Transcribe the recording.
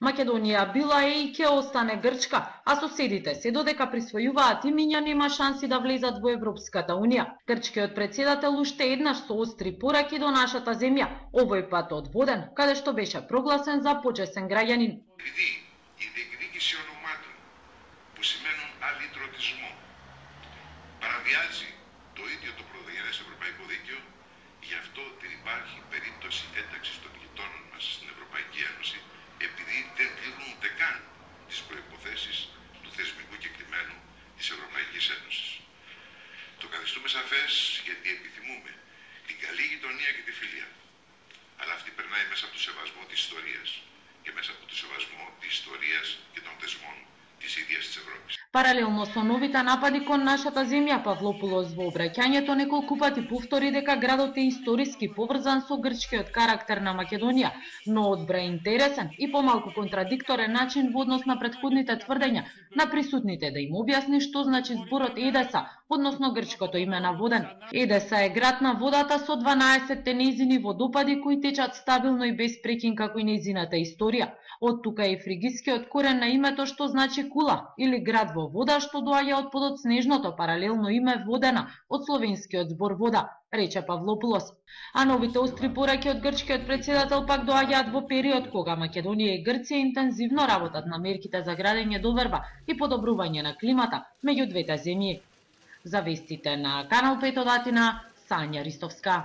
Македонија била е и ќе остане Грчка, а соседите се додека присвојуваат имиња нема шанси да влезат во Европската унија. Грчкиот председател уште еднаш соостри пораки до нашата земја, овој пат од Воден, каде што беше прогласен за почесен граѓанин. Η διεκδίκηση ονομάτων που σημαίνουν αλυτρωτισμό παραβιάζει το ίδιο το πρωτογενές ευρωπαϊκό δίκαιο, γι' αυτό δεν υπάρχει περίπτωση ένταξης των γειτόνων μας στην Ευρωπαϊκή Ένωση, επειδή δεν τηρούνται καν τις προϋποθέσεις του θεσμικού κεκτημένου της Ευρωπαϊκής Ένωσης. Το καθιστούμε σαφές γιατί επιθυμούμε την καλή γειτονία και τη φιλία. Αλλά αυτή περνάει μέσα από το σεβασμό της ιστορίας και μέσα από το σεβασμό της ιστορίας και των θεσμών της ίδιας της Ευρώπης. Паралелно со новите напади кон нашата земја, Павлопулос во обраќањето неколку пати повтори дека градот е историски поврзан со грчкиот карактер на Македонија, но одбра интересен и помалку контрадикторен начин во однос на претходните тврдења на присутните да им објасни што значи зборот Едеса, односно грчкото име на Воден. Едеса е град на водата со 12 нејзини водопади кои течат стабилно и без прекин како и нејзината историја. Од тука е фригискиот корен на името што значи кула или град во вода, што доаѓа од подоцнежното паралелно име Водена од словенскиот збор вода, рече Павлопулос. А новите остри пораки од грчкиот председател пак доаѓаат во период кога Македонија и Грција интензивно работат на мерките за градење доверба и подобрување на климата меѓу двете земји. За вестите на Канал 5 од Атина, Сања Ристовска.